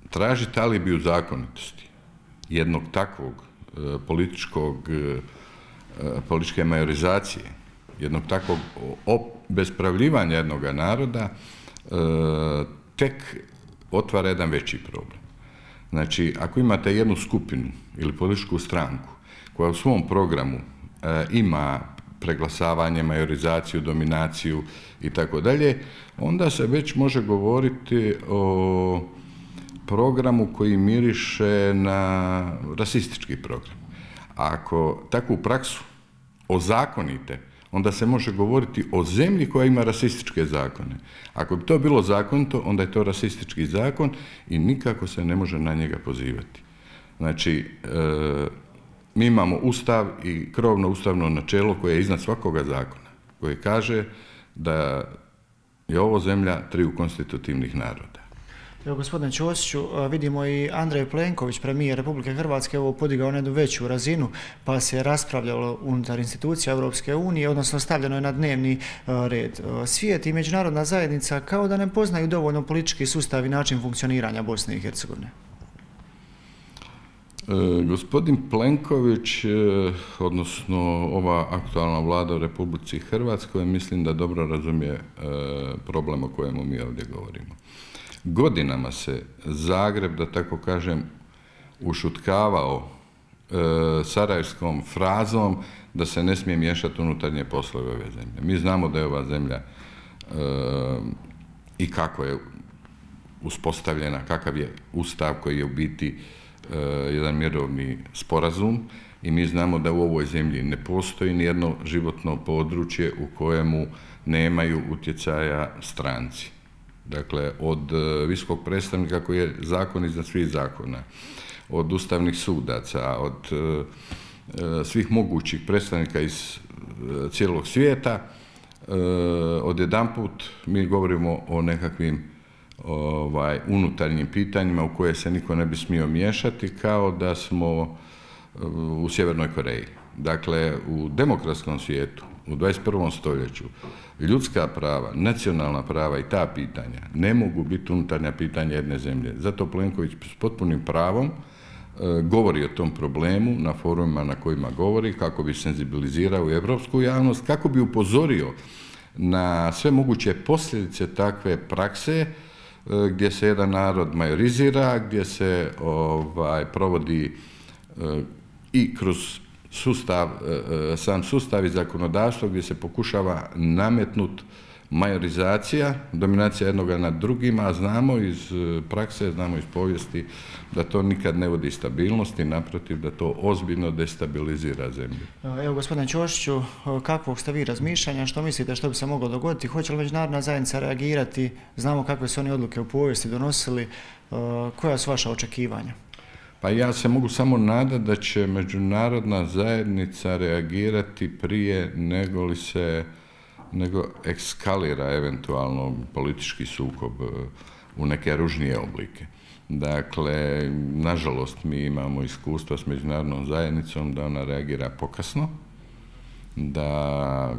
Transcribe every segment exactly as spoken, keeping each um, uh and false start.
tražiti alibi u zakonitosti jednog takvog političkog, političke majorizacije, jednog takvog obespravljivanja jednog naroda, tek otvara jedan veći problem. Znači, ako imate jednu skupinu ili političku stranku koja u svom programu ima preglasavanje, majorizaciju, dominaciju i tako dalje, onda se već može govoriti o programu koji miriše na rasistički program. A ako takvu praksu ozakonite, onda se može govoriti o zemlji koja ima rasističke zakone. Ako bi to bilo zakonito, onda je to rasistički zakon i nikako se ne može na njega pozivati. Znači, e, mi imamo ustav i krovno ustavno načelo koje je iznad svakoga zakona, koje kaže da je ovo zemlja triju konstitutivnih naroda. Evo, gospodine Ćosiću, vidimo i Andrej Plenković, premijer Republike Hrvatske, ovo podigao na jednu veću razinu, pa se raspravljalo unutar institucija Europske unije, odnosno stavljeno je na dnevni red. Svijet i međunarodna zajednica kao da ne poznaju dovoljno politički sustav i način funkcioniranja Bosne i Hercegovine. E, gospodin Plenković, e, odnosno ova aktualna vlada u Republici Hrvatskoj, mislim da dobro razumije e, problem o kojemu mi ovdje govorimo. Godinama se Zagreb, da tako kažem, ušutkavao e, sarajevskom frazom da se ne smije miješati unutarnje poslove ove zemlje. Mi znamo da je ova zemlja e, i kako je uspostavljena, kakav je ustav koji je u biti e, jedan mirovni sporazum i mi znamo da u ovoj zemlji ne postoji nijedno životno područje u kojemu nemaju utjecaja stranci. Dakle, od visokog predstavnika koji je zakon iznad svih zakona, od ustavnih sudaca, od e, svih mogućih predstavnika iz e, cijelog svijeta, e, odjedanput mi govorimo o nekakvim ovaj, unutarnjim pitanjima u koje se niko ne bi smio miješati, kao da smo u Sjevernoj Koreji. Dakle, u demokratskom svijetu, u dvadeset prvom stoljeću, ljudska prava, nacionalna prava i ta pitanja ne mogu biti unutarnja pitanja jedne zemlje. Zato Plenković s potpunim pravom e, govori o tom problemu na forumima na kojima govori, kako bi senzibilizirao evropsku javnost, kako bi upozorio na sve moguće posljedice takve prakse e, gdje se jedan narod majorizira, gdje se ovaj, provodi e, i kroz sustav, sam sustav i zakonodavstvo gdje se pokušava nametnut majorizacija, dominacija jednoga nad drugima, a znamo iz prakse, znamo iz povijesti da to nikad ne vodi stabilnosti, naprotiv da to ozbiljno destabilizira zemlju. Evo, gospodine Ćosiću, kakvog ste vi razmišljanja, što mislite što bi se moglo dogoditi? Hoće li međunarodna zajednica reagirati? Znamo kakve su oni odluke u povijesti donosili. Koja su vaša očekivanja? Pa ja se mogu samo nadati da će međunarodna zajednica reagirati prije nego li se nego ekskalira eventualno politički sukob u neke ružnije oblike. Dakle, nažalost, mi imamo iskustva s međunarodnom zajednicom da ona reagira pokasno, da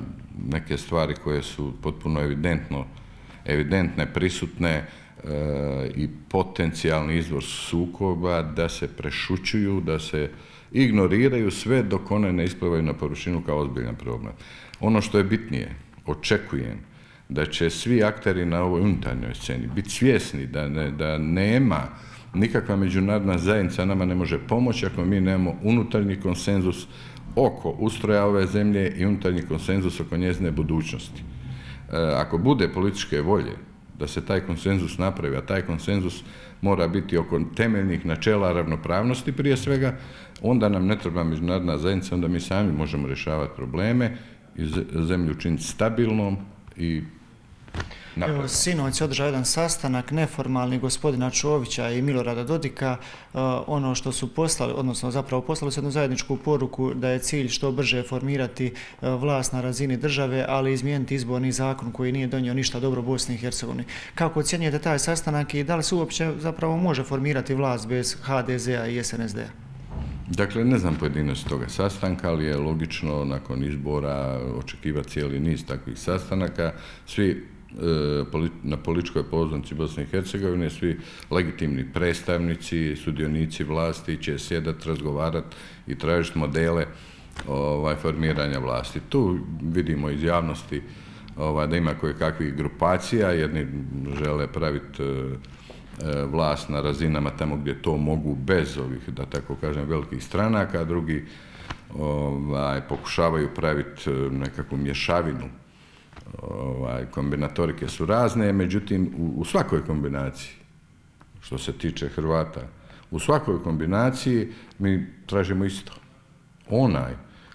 neke stvari koje su potpuno evidentno, evidentne, prisutne, i potencijalni izvor sukoba, da se prešućuju, da se ignoriraju sve dok one ne isplivaju na površinu kao ozbiljan problem. Ono što je bitnije, očekujem da će svi akteri na ovoj unutarnjoj sceni biti svjesni da, ne, da nema nikakva međunarodna zajednica nama ne može pomoći ako mi nemamo unutarnji konsenzus oko ustroja ove zemlje i unutarnji konsenzus oko njezine budućnosti. E, ako bude političke volje da se taj konsenzus napravi, a taj konsenzus mora biti oko temeljnih načela ravnopravnosti prije svega, onda nam ne treba međunarodna zajednica, onda mi sami možemo rješavati probleme i zemlju učiniti stabilnom i naprednom. Evo, sinoć je održao jedan sastanak neformalni gospodina Čovića i Milorada Dodika. Uh, ono što su poslali, odnosno zapravo poslali su jednu zajedničku poruku da je cilj što brže formirati uh, vlast na razini države, ali izmijeniti izborni zakon koji nije donio ništa dobro Bosni i Hercegovini. Kako ocjenjujete taj sastanak i da li se uopće zapravo može formirati vlast bez ha de zea i es en es de-a? Dakle, ne znam pojedinost toga sastanka, ali je logično nakon izbora očekivati cijeli niz takvih sastanaka. Svi na političkoj pozornici Bosne i Hercegovine, svi legitimni predstavnici, sudionici vlasti će sjedati, razgovarati i tražiti modele ovaj, formiranja vlasti. Tu vidimo iz javnosti ovaj, da ima koje kakvih grupacija, jedni žele praviti e, vlast na razinama tamo gdje to mogu bez ovih, da tako kažem, velikih stranaka, drugi ovaj, pokušavaju praviti nekakvu mješavinu. Ovaj, kombinatorike su razne, međutim u, u svakoj kombinaciji, što se tiče Hrvata, u svakoj kombinaciji mi tražimo isto. Onaj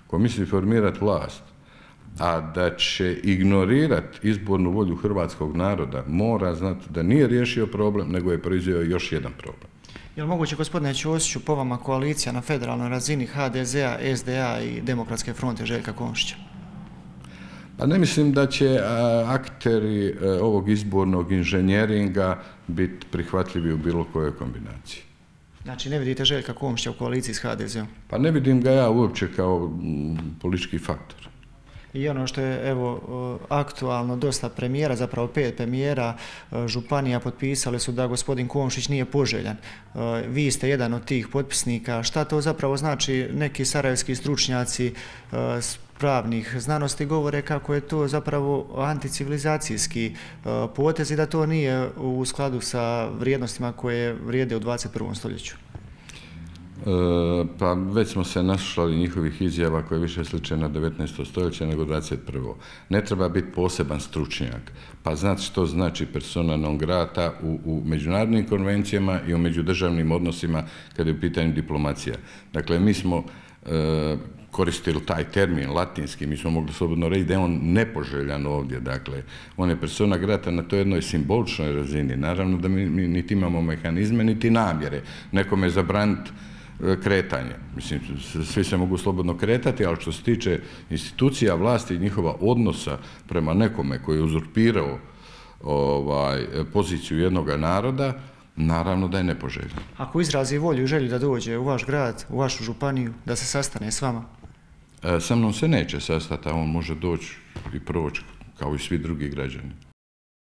ko misli formirati vlast, a da će ignorirati izbornu volju hrvatskog naroda, mora znati da nije riješio problem, nego je proizveo još jedan problem. Je li moguće, gospodine Ćosiću, po vama koalicija na federalnoj razini ha de ze a, es de a i Demokratske fronte Željka Komšića? Pa ne mislim da će a, akteri a, ovog izbornog inženjeringa biti prihvatljivi u bilo kojoj kombinaciji. Znači ne vidite Željka Komšića u koaliciji s ha de ze om? Pa ne vidim ga ja uopće kao m, politički faktor. I ono što je evo aktualno, dosta premijera, zapravo pet premijera županija potpisali su da gospodin Komšić nije poželjan. Vi ste jedan od tih potpisnika. Šta to zapravo znači? Neki sarajevski stručnjaci pravnih znanosti govore kako je to zapravo anticivilizacijski potez i da to nije u skladu sa vrijednostima koje vrijede u dvadeset prvom stoljeću. E, pa već smo se naslušali njihovih izjava koje više sliče na devetnaesto stoljeće nego dvadeset prvo. Ne treba biti poseban stručnjak, pa znati što znači persona non grata u, u međunarodnim konvencijama i u međudržavnim odnosima kada je u pitanju diplomacija. Dakle, mi smo e, koristili taj termin latinski, mi smo mogli slobodno reći da je on nepoželjan ovdje, dakle, on je persona grata na toj jednoj simboličnoj razini. Naravno da mi, mi niti imamo mehanizme, niti namjere nekome zabraniti kretanje. Mislim, svi se mogu slobodno kretati, ali što se tiče institucija vlasti i njihova odnosa prema nekome koji je uzurpirao ovaj, poziciju jednog naroda, naravno da je nepoželjan. Ako izrazi volju i želju da dođe u vaš grad, u vašu županiju, da se sastane s vama? E, sa mnom se neće sastati, a on može doći i proći kao i svi drugi građani.